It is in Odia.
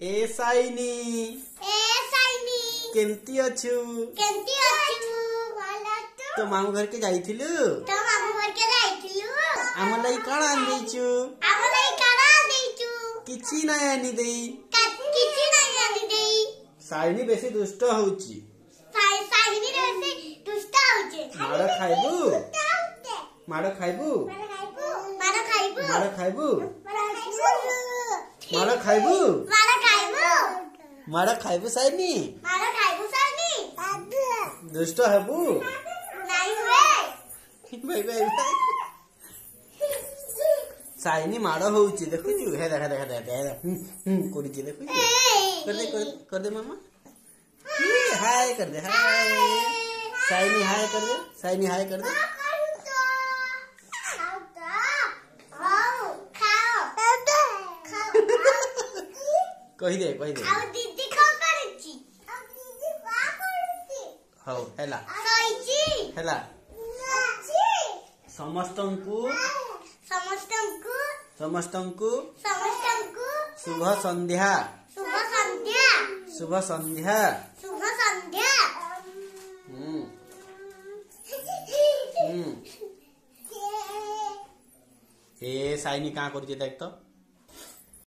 ଏ ସାଇନି, ଏ ସାଇନି, କେମିତି ଅଛୁ? କେମିତି ଅଛୁ? ଭଲ ଅଛୁ। ତୋ ମାମୁଁ ଘରକେ ଯାଇଥିଲୁ? ତୋ ମାମୁଁ ଘରକେ ଯାଇଥିଲୁ? ଆମ ଲାଗି କଣ ଆଣି ଦେଇଛୁ? ଆମ ଲାଗି କଣ ଦେଇଛୁ? କିଛି ନାଇଁ ଆଣି ଦେଇ। କିଛି ନାଇଁ ଆଣି ଦେଇ। ସାଇନି ବେଶୀ ଦୁଷ୍ଟ ହଉଛି। ସାଇନି ବେଶୀ ଦୁଷ୍ଟ ହଉଛି। ମାଡ଼ ଖାଇବୁ? ମାଡ଼ ଖାଇବୁ? ମାଡ଼ ଖାଇବୁ? ମାଡ଼ ଖାଇବୁ? ମାଡ଼ ଖାଇବୁ? ମାଡ଼ ଖାଇବୁ? ମାଡ଼ ଖାଇବୁ ସାଇନି? ମାଡ଼ ଖାଇବୁ ସାଇନି? ଦୁଷ୍ଟ ହେବୁ? ନାଇଁ ହୁଏ। ଭାଇ ଭାଇ ଭାଇ, ସାଇନି ମାଡ଼ ହଉଛି ଦେଖୁଛୁ? ହେ ଦେଖ ଦେଖ ଦେଖ ଦେଖ, ହୁଁ ହୁଁ କରୁଛି ଦେଖୁଛୁ? କରିଦେ କରିଦେ ମାମା, ହାଏ କରିଦେ, ହାଏ ସାଇନି, ହାଏ କରିଦେ ସାଇନି, ହାଏ କରିଦେ। କହିଦେ କହିଦେ। ଆଉ ଦିଦି କଣ କରୁଛି? ଆଉ ଦିଦି କଣ କରୁଛି? ହଉ ହେଲା, ଶୋଇଛି। ହେଲା। ସମସ୍ତଙ୍କୁ, ସମସ୍ତଙ୍କୁ, ସମସ୍ତଙ୍କୁ, ସମସ୍ତଙ୍କୁ ଶୁଭ ସନ୍ଧ୍ୟା, ଶୁଭ ସନ୍ଧ୍ୟା, ଶୁଭ ସନ୍ଧ୍ୟା, ଶୁଭ ସନ୍ଧ୍ୟା। ହୁଁ ହୁଁ। ଏ ସାଇନି କାଁ କରୁଛି ଦେଖ ତ।